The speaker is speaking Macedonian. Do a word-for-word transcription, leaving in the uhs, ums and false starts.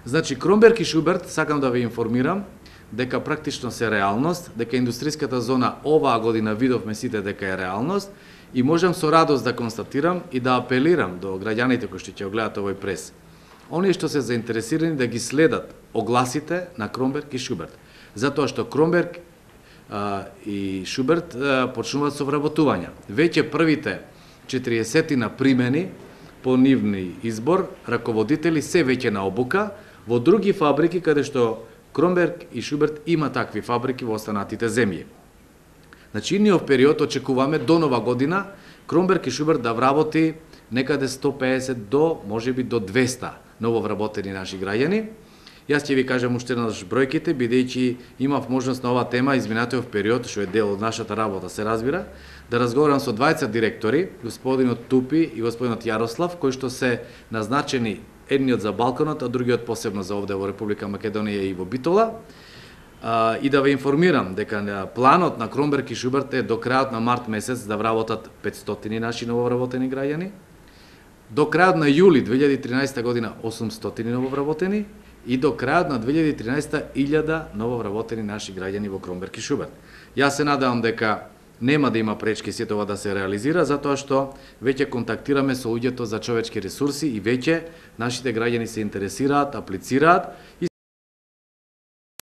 Значи, Кромберг и Шуберт, сакам да ве информирам, дека практично се реалност, дека индустријската зона оваа година видовме сите дека е реалност и можам со радост да констатирам и да апелирам до граѓаните кои што ќе го гледаат овој прес. Оние што се заинтересирани да ги следат огласите на Кромберг и Шуберт, затоа што Кромберг а, и Шуберт а, почнуваат со вработување. Веќе првите четириесет на примени по нивни избор, раководители се веќе на обука во други фабрики каде што Кромберг и Шуберт има такви фабрики во останатите земји. Значи, идниот период очекуваме до нова година Кромберг и Шуберт да вработи некаде сто песет до, можеби до двеста нововработени наши граѓани. Јас ќе ви кажам уште еднаш бројките, бидејќи имав можност на оваа тема изминатиот период, што е дел од нашата работа, се разбира, да разговарам со двајца директори, господинот Тупи и господинот Јарослав, кои што се назначени едниот за Балканот, а другиот посебно за овде во Република Македонија и во Битола. А, и да ве информирам дека планот на Кромберг и Шуберт е до крајот на март месец да вработат петстотини наши нововработени граѓани, до крајот на јули две илјади и тринаесета година осумстотини нововработени и до крајот на две илјади и тринаесета илјада нововработени наши граѓани во Кромберг и Шуберт. Јас се надевам дека нема да има пречки сето ова да се реализира, затоа што веќе контактираме со луѓето за човечки ресурси и веќе нашите граѓани се интересираат, аплицираат.